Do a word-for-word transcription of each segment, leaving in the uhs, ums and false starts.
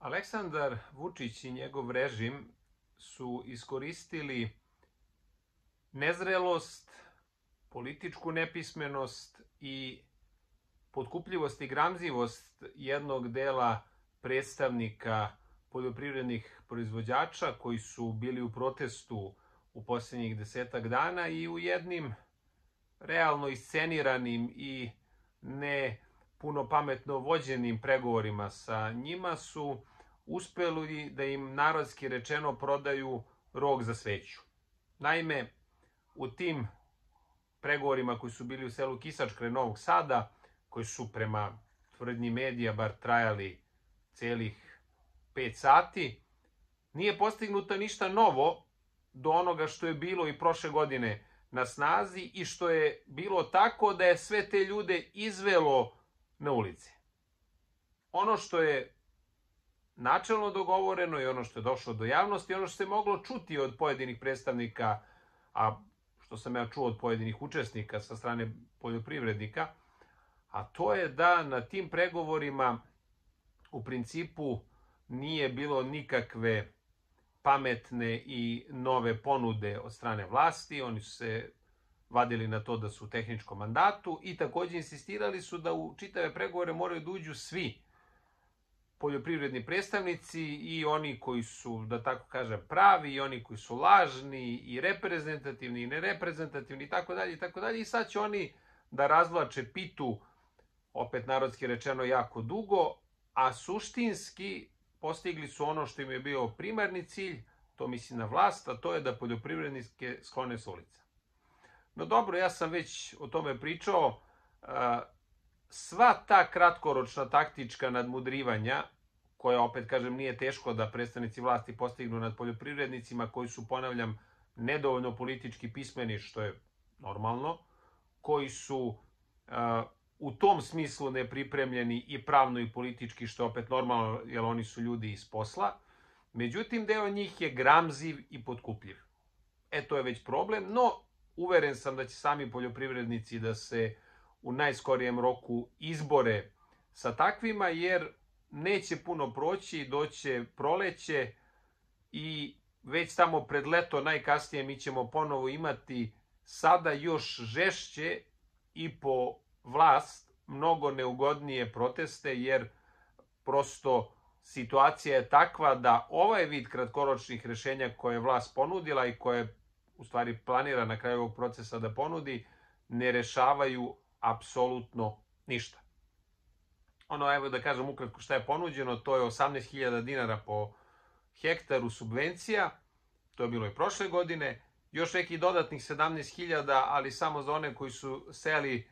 Aleksandar Vučić i njegov režim su iskoristili nezrelost, političku nepismenost i potkupljivost i gramzivost jednog dela predstavnika poljoprivrednih proizvođača koji su bili u protestu u posljednjih desetak dana i u jednim realno isceniranim i ne puno pametno vođenim pregovorima sa njima su uspeli da im narodski rečeno prodaju rog za sveću. Naime, u tim pregovorima koji su bili u selu Kisač kraj Novog Sada, koji su prema tvrdnji medija bar trajali celih pet sati, nije postignuto ništa novo do onoga što je bilo i prošle godine na snazi i što je bilo tako da je sve te ljude izvelo na ulici. Ono što je načelno dogovoreno i ono što je došlo do javnosti, ono što se moglo čuti od pojedinih predstavnika, a što sam ja čuo od pojedinih učesnika sa strane poljoprivrednika, a to je da na tim pregovorima u principu nije bilo nikakve pametne i nove ponude od strane vlasti. Oni su se vadili na to da su u tehničkom mandatu i takođe insistirali su da u čitave pregovore moraju da uđu svi poljoprivredni predstavnici i oni koji su, da tako kažem, pravi i oni koji su lažni i reprezentativni i nereprezentativni i tako dalje i tako dalje. I sad će oni da razvlače pitu, opet narodski rečeno, jako dugo, a suštinski postigli su ono što im je bio primarni cilj, to misli na vlast, a to je da poljoprivrednike sklone s ulica. No dobro, ja sam već o tome pričao. Sva ta kratkoročna taktička nadmudrivanja, koja, opet kažem, nije teško da predstavnici vlasti postignu nad poljoprivrednicima koji su, ponavljam, nedovoljno politički pismeni, što je normalno, koji su u tom smislu nepripremljeni i pravno i politički, što je opet normalno, jer oni su ljudi iz posla. Međutim, deo njih je gramziv i potkupljiv. E, to je već problem, no uveren sam da će sami poljoprivrednici da se u najskorijem roku izbore sa takvima, jer neće puno proći, doće proleće i već tamo pred leto najkasnije mi ćemo ponovo imati sada još žešće i po vlast mnogo neugodnije proteste, jer prosto situacija je takva da ovaj vid kratkoročnih rešenja koje je vlast ponudila i koje u stvari planira na kraju ovog procesa da ponudi, ne rešavaju apsolutno ništa. Ono, evo da kažem ukratko šta je ponuđeno, to je osamnaest hiljada dinara po hektaru subvencija, to je bilo i prošle godine, još neki dodatnih sedamnaest hiljada, ali samo za one koji su sejali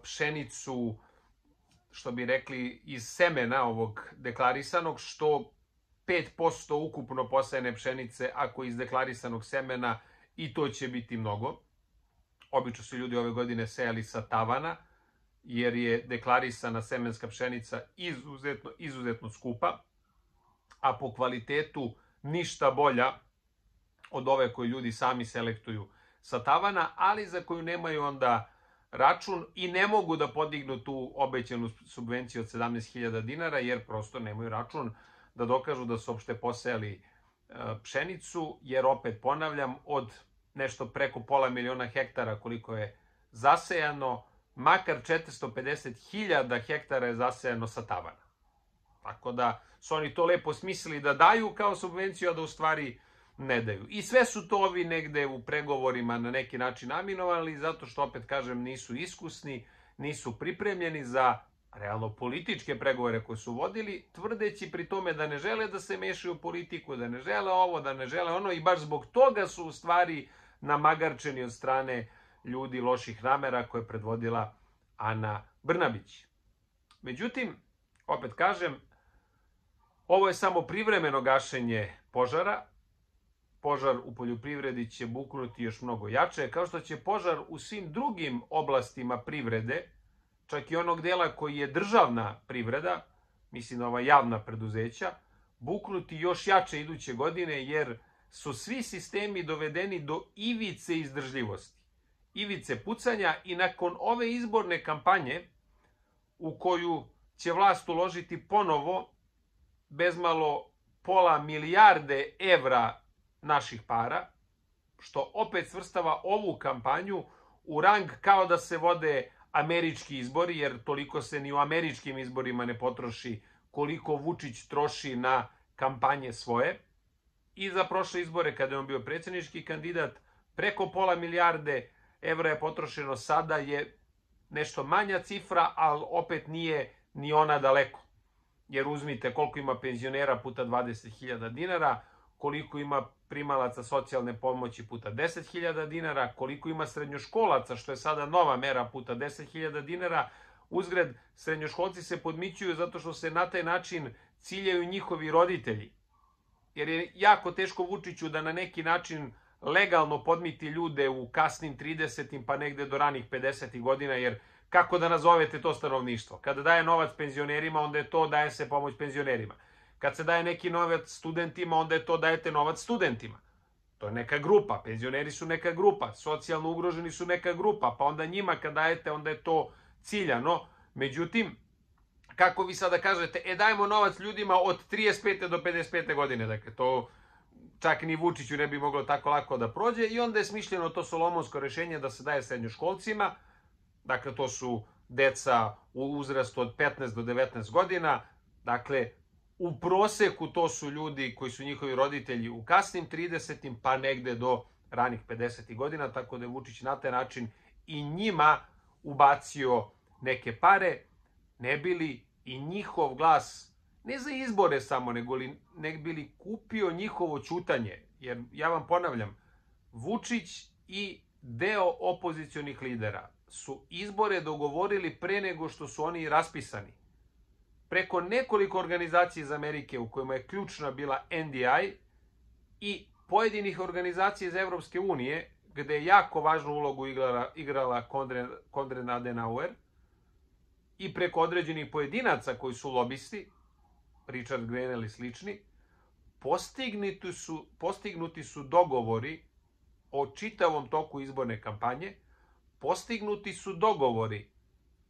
pšenicu, što bi rekli, iz semena ovog deklarisanog, što pet posto ukupno posejane pšenice ako iz deklarisanog semena, i to će biti mnogo. Obično su ljudi ove godine sejali sa tavana, jer je deklarisana semenska pšenica izuzetno, izuzetno skupa, a po kvalitetu ništa bolja od ove koje ljudi sami selektuju sa tavana, ali za koju nemaju onda račun i ne mogu da podignu tu obećanu subvenciju od sedamnaest hiljada dinara, jer prosto nemaju račun da dokažu da su uopšte posejali pšenicu, jer opet ponavljam, od nešto preko pola miliona hektara koliko je zasejano, makar četiristo pedeset hiljada hektara je zasejano sa tavana. Tako da su oni to lepo smislili da daju kao subvenciju, a da u stvari ne daju. I sve su to ovi negde u pregovorima na neki način aminovali, zato što, opet kažem, nisu iskusni, nisu pripremljeni za realno političke pregovore koje su vodili, tvrdeći pri tome da ne žele da se mešaju u politiku, da ne žele ovo, da ne žele ono, i baš zbog toga su u stvari namagarčeni od strane ljudi loših namera koje je predvodila Ana Brnabić. Međutim, opet kažem, ovo je samo privremeno gašenje požara. Požar u poljoprivredi će buknuti još mnogo jače, kao što će požar u svim drugim oblastima privrede, čak i onog dela koji je državna privreda, mislim na ova javna preduzeća, buknuti još jače iduće godine, jer su svi sistemi dovedeni do ivice izdržljivosti, ivice pucanja, i nakon ove izborne kampanje u koju će vlast uložiti ponovo bezmalo pola milijarde evra naših para, što opet svrstava ovu kampanju u rang kao da se vode američki izbori, jer toliko se ni u američkim izborima ne potroši koliko Vučić troši na kampanje svoje. I za prošle izbore, kada je on bio predsjednički kandidat, preko pola milijarde evra je potrošeno, sada je nešto manja cifra, ali opet nije ni ona daleko. Jer uzmite koliko ima penzionera puta dvadeset hiljada dinara, koliko ima primalaca socijalne pomoći puta deset hiljada dinara, koliko ima srednjoškolaca, što je sada nova mera, puta deset hiljada dinara. Uzgred, srednjoškolci se podmićuju zato što se na taj način ciljaju njihovi roditelji. Jer je jako teško Vučiću da na neki način legalno podmiti ljude u kasnim tridesetim pa negde do ranih pedesetih godina, jer kako da nazovete to stanovništvo? Kada daje novac penzionerima, onda je to daje se pomoć penzionerima. Kad se daje neki novac studentima, onda je to dajete novac studentima. To je neka grupa, penzioneri su neka grupa, socijalno ugroženi su neka grupa, pa onda njima kad dajete, onda je to ciljano. Međutim, kako vi sada kažete, e dajemo novac ljudima od trideset pete do pedeset pete godine, dakle to čak ni Vučiću ne bi moglo tako lako da prođe, i onda je smišljeno to solomonsko rešenje da se daje srednjoškolcima, dakle to su deca u uzrastu od petnaest do devetnaest godina, dakle u proseku to su ljudi koji su njihovi roditelji u kasnim tridesetim pa negde do ranih pedesetih godina, tako da je Vučić na taj način i njima ubacio neke pare, ne bili i njihov glas, ne za izbore samo, nego li, ne bili kupio njihovo ćutanje. Jer ja vam ponavljam, Vučić i deo opozicionih lidera su izbore dogovorili pre nego što su oni raspisani. Preko nekoliko organizacija iz Amerike u kojima je ključna bila N D I i pojedinih organizacija iz Evropske unije, gde je jako važnu ulogu igrala, igrala Konrad Adenauer, i preko određenih pojedinaca koji su lobisti, Richard Grenell i slični, postignuti su, postignuti su dogovori o čitavom toku izborne kampanje, postignuti su dogovori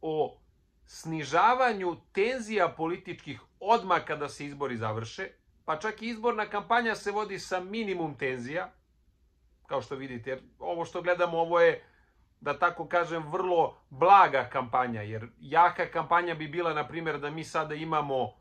o snižavanju tenzija političkih odmah kada se izbori završe, pa čak i izborna kampanja se vodi sa minimum tenzija, kao što vidite, jer ovo što gledamo, ovo je, da tako kažem, vrlo blaga kampanja, jer jaka kampanja bi bila, na primjer, da mi sada imamo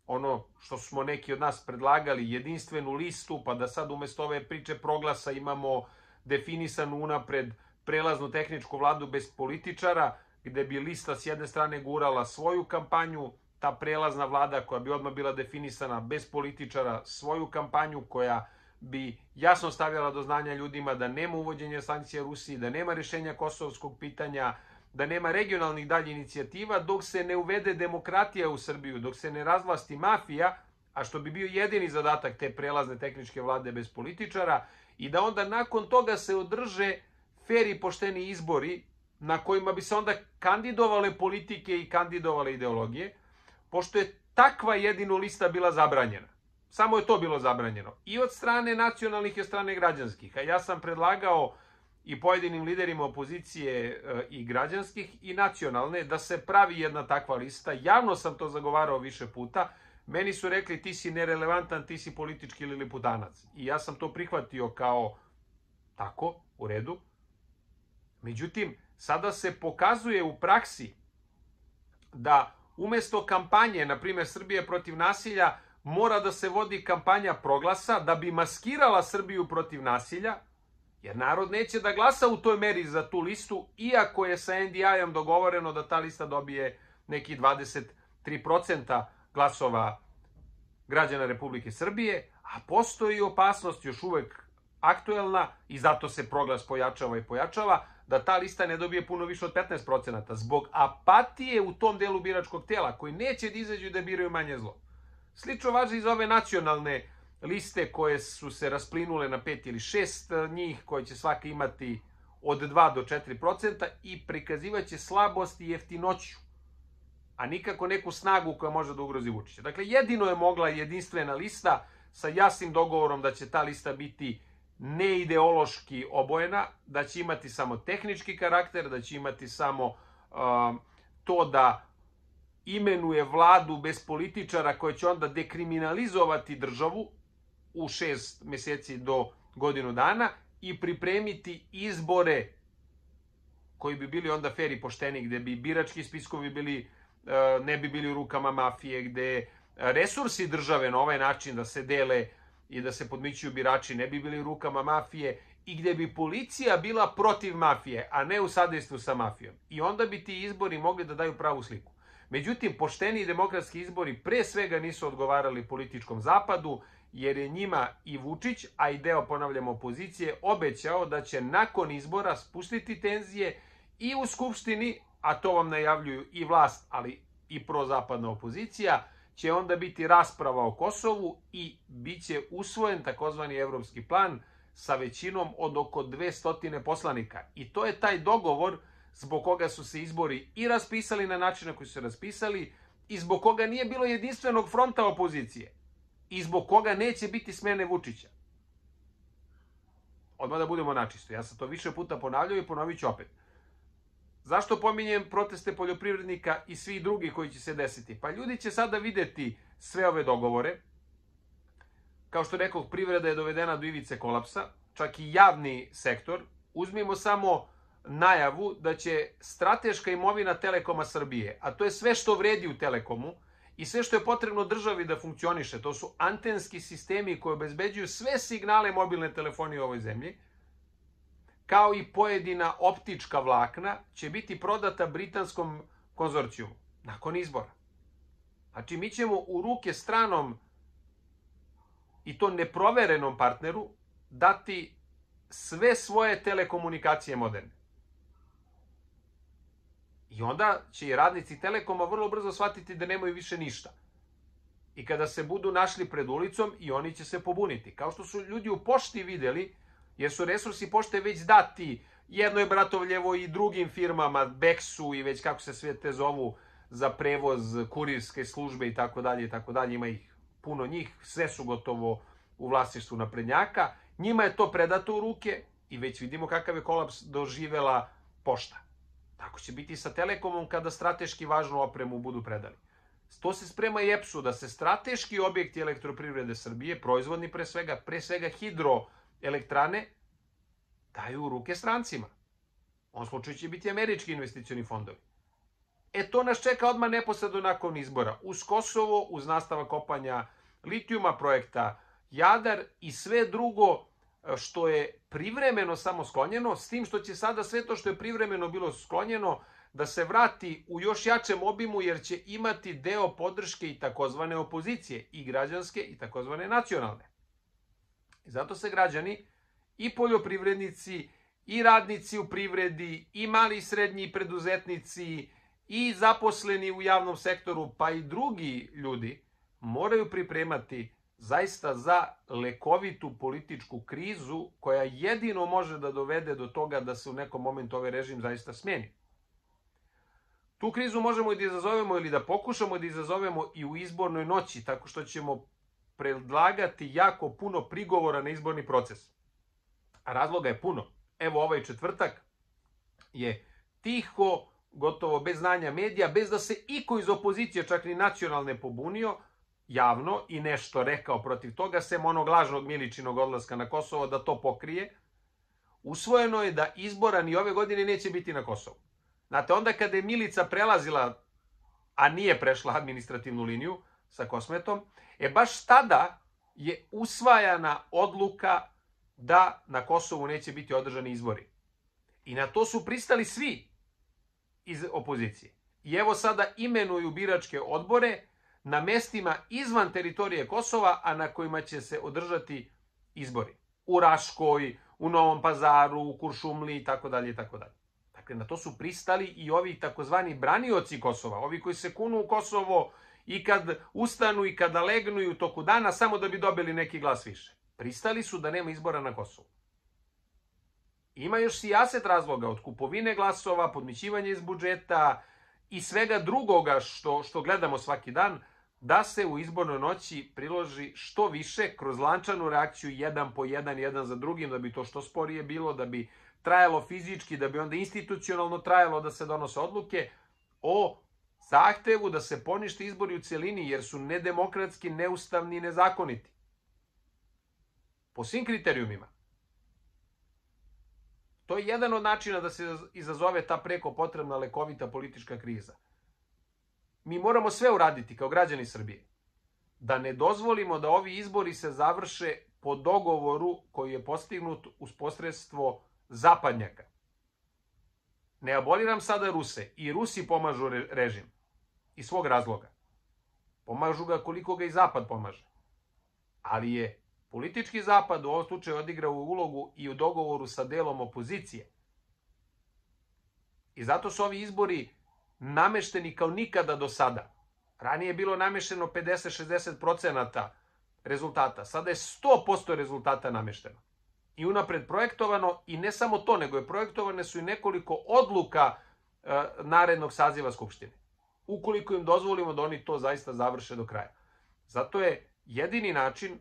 ono što smo neki od nas predlagali, jedinstvenu listu, pa da sad umesto ove priče proglasa imamo definisanu unapred prelaznu tehničku vladu bez političara, gde bi lista s jedne strane gurala svoju kampanju, ta prelazna vlada koja bi odmah bila definisana bez političara svoju kampanju, koja bi jasno stavljala do znanja ljudima da nema uvođenja sankcija Rusiji, da nema rješenja kosovskog pitanja, da nema regionalnih dalje inicijativa, dok se ne uvede demokratija u Srbiju, dok se ne razvlasti mafija, a što bi bio jedini zadatak te prelazne tehničke vlade bez političara, i da onda nakon toga se održe fer i pošteni izbori na kojima bi se onda kandidovale politike i kandidovale ideologije, pošto je takva jedino lista bila zabranjena. Samo je to bilo zabranjeno. I od strane nacionalnih i od strane građanskih. A ja sam predlagao i pojedinim liderima opozicije i građanskih i nacionalne da se pravi jedna takva lista. Javno sam to zagovarao više puta. Meni su rekli ti si nerelevantan, ti si politički liliputanac. I ja sam to prihvatio kao tako, u redu. Međutim, sada se pokazuje u praksi da umesto kampanje, na primjer Srbije protiv nasilja, mora da se vodi kampanja proglasa da bi maskirala Srbiju protiv nasilja, jer narod neće da glasa u toj meri za tu listu, iako je sa N D I-om dogovoreno da ta lista dobije neki dvadeset tri posto glasova građana Republike Srbije, a postoji opasnost još uvek aktuelna i zato se proglas pojačava i pojačava, da ta lista ne dobije puno više od petnaest posto zbog apatije u tom delu biračkog tela koji neće da izađu da biraju manje zlo. Slično važi i za ove nacionalne liste koje su se rasplinule na pet ili šest njih, koje će svaka imati od dva do četiri posto i prikazivaće slabost i jeftinoću, a nikako neku snagu koja može da ugrozi Vučića. Dakle, jedino je mogla jedinstvena lista sa jasnim dogovorom da će ta lista biti neideološki obojena, da će imati samo tehnički karakter, da će imati samo uh, to da imenuje vladu bez političara koja će onda dekriminalizovati državu u šest meseci do godinu dana i pripremiti izbore koji bi bili onda fer i pošteni, gde bi birački spiskovi bili, ne bi bili u rukama mafije, gde resursi države na ovaj način da se dele i da se podmićuju birači ne bi bili u rukama mafije i gde bi policija bila protiv mafije, a ne u sadejstvu sa mafijom. I onda bi ti izbori mogli da daju pravu sliku. Međutim, pošteni i demokratski izbori pre svega nisu odgovarali političkom zapadu, jer je njima i Vučić, a i deo, ponavljamo, opozicije, obećao da će nakon izbora spustiti tenzije i u Skupštini, a to vam najavljuju i vlast, ali i prozapadna opozicija, će onda biti rasprava o Kosovu i bit će usvojen takozvani evropski plan sa većinom od oko dvesta poslanika. I to je taj dogovor zbog koga su se izbori i raspisali na način na koji su se raspisali i zbog koga nije bilo jedinstvenog fronta opozicije i zbog koga neće biti smene Vučića. Odmah da budemo načisto. Ja sam to više puta ponavljao i ponovit ću opet. Zašto pominjem proteste poljoprivrednika i svi drugi koji će se desiti? Pa ljudi će sada videti sve ove dogovore. Kao što rekao, privreda je dovedena do ivice kolapsa, čak i javni sektor. Uzmimo samo najavu da će strateška imovina Telekoma Srbije, a to je sve što vredi u Telekomu i sve što je potrebno državi da funkcioniše, to su antenski sistemi koji obezbeđuju sve signale mobilne telefonije u ovoj zemlji, kao i pojedina optička vlakna, će biti prodata britanskom konzorcijumu nakon izbora. Znači, mi ćemo u ruke stranom i to neproverenom partneru dati sve svoje telekomunikacije moderne. I onda će i radnici Telekoma vrlo brzo shvatiti da nemaju više ništa. I kada se budu našli pred ulicom, i oni će se pobuniti. Kao što su ljudi u pošti videli, jer su resursi pošte već dati Jednoj Bratovljevo i drugim firmama, Beksu i već kako se sve te zovu, za prevoz, kurirske službe i tako dalje i tako dalje. Ima ih puno njih, sve su gotovo u vlasništvu naprednjaka. Njima je to predato u ruke i već vidimo kakav je kolaps doživela pošta. Tako će biti sa Telekomom kada strateški važnu opremu budu predali. To se sprema i E P S-u, da se strateški objekti elektroprivrede Srbije, proizvodni pre svega, pre svega hidroelektrane, daju u ruke strancima. U ovom slučaju će biti američki investicioni fondovi. E to nas čeka odmah neposredno nakon izbora. Uz Kosovo, uz nastavak kopanja litijuma, projekta Jadar i sve drugo što je privremeno samo sklonjeno, s tim što će sada sve to što je privremeno bilo sklonjeno da se vrati u još jačem obimu, jer će imati deo podrške i takozvane opozicije, i građanske i takozvane nacionalne. I zato se građani, i poljoprivrednici, i radnici u privredi, i mali i srednji preduzetnici, i zaposleni u javnom sektoru, pa i drugi ljudi, moraju pripremati zaista za lekovitu političku krizu koja jedino može da dovede do toga da se u nekom momentu ovaj režim zaista smeni. Tu krizu možemo i da izazovemo ili da pokušamo da izazovemo i u izbornoj noći, tako što ćemo predlagati jako puno prigovora na izborni proces. A razloga je puno. Evo, ovaj četvrtak je tiho, gotovo bez znanja medija, bez da se iko iz opozicije, čak ni nacionalne, pobunio javno i nešto rekao protiv toga, sem onog lažnog Miličinog odlaska na Kosovo, da to pokrije. Usvojeno je da izbora ni ove godine neće biti na Kosovu. Znate, onda kada je Milica prelazila, a nije prešla administrativnu liniju sa Kosmetom, e baš tada je usvajana odluka da na Kosovu neće biti održani izbori. I na to su pristali svi iz opozicije. I evo sada imenuju biračke odbore na mestima izvan teritorije Kosova, a na kojima će se održati izbori. U Raškoj, u Novom Pazaru, u Kuršumliji, tako dalje i tako dalje. Dakle, na to su pristali i ovi takozvani branioci Kosova, ovi koji se kunu u Kosovo i kad ustanu i kada legnu i u toku dana samo da bi dobili neki glas više. Pristali su da nema izbora na Kosovu. Ima još sijaset razloga, od kupovine glasova, podmićivanja iz budžeta i svega drugoga što, što gledamo svaki dan, da se u izbornoj noći priloži što više kroz lančanu reakciju jedan po jedan, jedan za drugim, da bi to što sporije bilo, da bi trajalo fizički, da bi onda institucionalno trajalo da se donose odluke o zahtevu da se ponište izbori u celini, jer su nedemokratski, neustavni i nezakoniti. Po svim kriterijumima. To je jedan od načina da se izazove ta preko potrebna lekovita politička kriza. Mi moramo sve uraditi kao građani Srbije, da ne dozvolimo da ovi izbori se završe po dogovoru koji je postignut uz posredstvo zapadnjaka. Ne aboliram sada Ruse. I Rusi pomažu režim. Iz svog razloga. Pomažu ga koliko ga i Zapad pomaže. Ali je politički Zapad u ovom slučaju odigrao ulogu i u dogovoru sa delom opozicije. I zato su ovi izbori namešteni kao nikada do sada. Ranije je bilo namešteno pedeset do šezdeset procenata rezultata. Sada je sto posto rezultata namešteno. I unapred projektovano, i ne samo to, nego je projektovane su i nekoliko odluka e, narednog saziva Skupštine. Ukoliko im dozvolimo da oni to zaista završe do kraja. Zato je jedini način,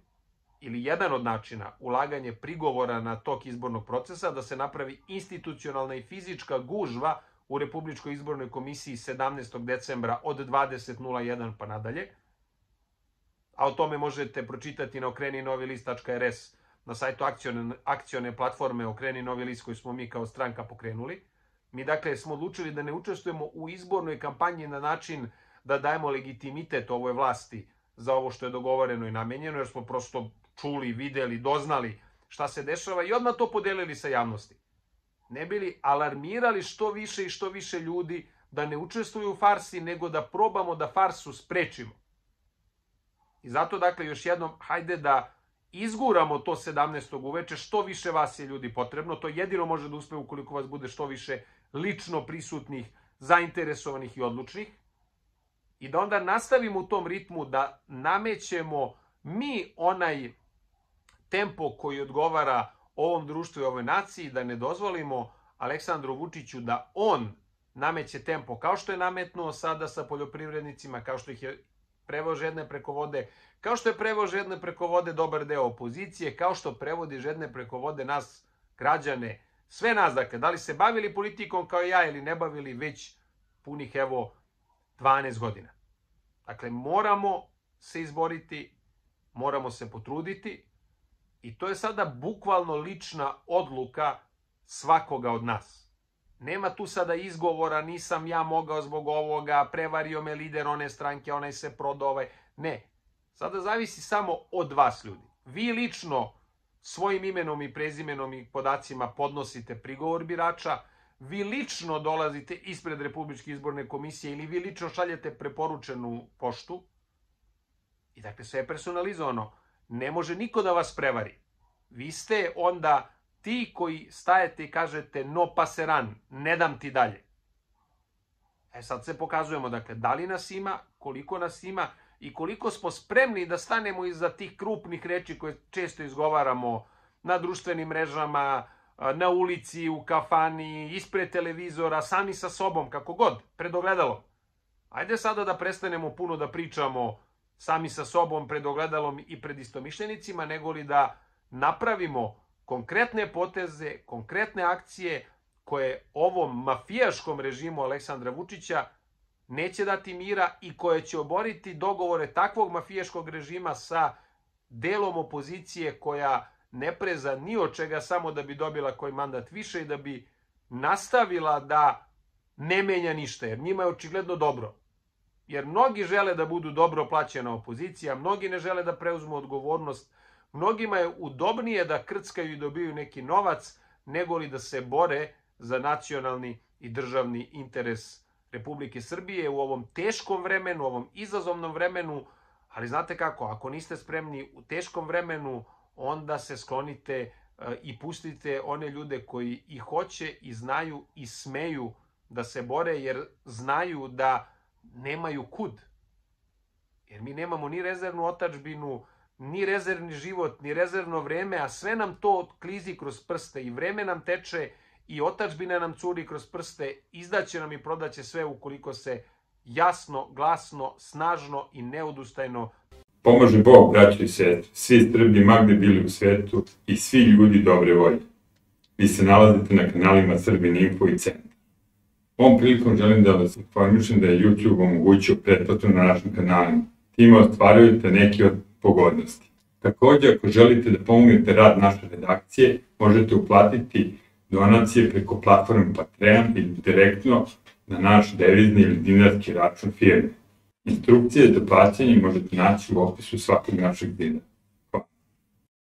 ili jedan od načina, ulaganje prigovora na tok izbornog procesa, da se napravi institucionalna i fizička gužva u Republičkoj izbornoj komisiji sedamnaestog decembra od dvadeset nula jedan pa nadalje. A o tome možete pročitati na okreni novi list tačka er es, na sajtu akcione, akcione platforme Okreni novi list koju smo mi kao stranka pokrenuli. Mi dakle smo odlučili da ne učestvujemo u izbornoj kampanji na način da dajemo legitimitet ovoj vlasti za ovo što je dogovoreno i namenjeno, jer smo prosto čuli, videli, doznali šta se dešava i odmah to podelili sa javnosti. Ne bili alarmirali što više i što više ljudi da ne učestvuju u farsi, nego da probamo da farsu sprečimo. I zato dakle još jednom, hajde da izguramo to sedamnaestog uveče, što više vas je ljudi potrebno, to jedino može da uspe ukoliko vas bude što više lično prisutnih, zainteresovanih i odlučnih, i da onda nastavimo u tom ritmu da namećemo mi onaj tempo koji odgovara ovom društvu i ovoj naciji, da ne dozvolimo Aleksandru Vučiću da on nameće tempo, kao što je nametnuo sada sa poljoprivrednicima, kao što ih je preveo žedne preko vode, kao što je preveo žedne preko vode dobar deo opozicije, kao što prevodi žedne preko vode nas, građane, sve nas, dakle, da li se bavili politikom kao ja ili ne bavili već punih, evo, dvanaest godina. Dakle, moramo se izboriti, moramo se potruditi i to je sada bukvalno lična odluka svakoga od nas. Nema tu sada izgovora, nisam ja mogao zbog ovoga, prevario me lider one stranke, onaj se prodao ovaj. Ne, sada zavisi samo od vas, ljudi. Vi lično svojim imenom i prezimenom i podacima podnosite prigovor birača, vi lično dolazite ispred Republičke izborne komisije ili vi lično šaljete preporučenu poštu. I dakle, sve je personalizovano. Ne može niko da vas prevari. Vi ste onda ti koji stajete i kažete no paseran, ne dam ti dalje. E sad se pokazujemo, dakle, da li nas ima, koliko nas ima i koliko smo spremni da stanemo iza tih krupnih reči koje često izgovaramo na društvenim mrežama, na ulici, u kafani, ispred televizora, sami sa sobom, kako god, pred ogledalom. Ajde sada da prestanemo puno da pričamo sami sa sobom, pred ogledalom i pred istomišljenicima, nego li da napravimo konkretne poteze, konkretne akcije koje ovom mafijaškom režimu Aleksandra Vučića neće dati mira i koje će oboriti dogovore takvog mafijaškog režima sa delom opozicije koja ne preza ni od čega samo da bi dobila koji mandat više i da bi nastavila da ne menja ništa, jer njima je očigledno dobro. Jer mnogi žele da budu dobro plaćena opozicija, mnogi ne žele da preuzmu odgovornost, mnogima je udobnije da krckaju i dobiju neki novac, nego li da se bore za nacionalni i državni interes Republike Srbije u ovom teškom vremenu, u ovom izazovnom vremenu. Ali znate kako, ako niste spremni u teškom vremenu, onda se sklonite i pustite one ljude koji i hoće i znaju i smeju da se bore, jer znaju da nemaju kud. Jer mi nemamo ni rezervnu otadžbinu, ni rezervni život, ni rezervno vreme, a sve nam to klizi kroz prste i vreme nam teče i otadžbina nam curi kroz prste, izdaće nam i prodaće sve ukoliko se jasno, glasno, snažno i neodustajno pomaže Bog, braćo i sestre, svi Srbi magde bili u svetu i svi ljudi dobre volje. Vi se nalazite na kanalima Srbin Info i Centar. Ovom prilikom želim da vas informišem da je YouTube omogućio pretplatu na našim kanalima. Time ostvarujete neke od pogodnosti. Također, ako želite da pomognete rad naše redakcije, možete uplatiti donacije preko platforme Patreon ili direktno na naš devizni ili dinarski račun firme. Instrukcije za plaćanje možete naći u opisu svakog našeg videa.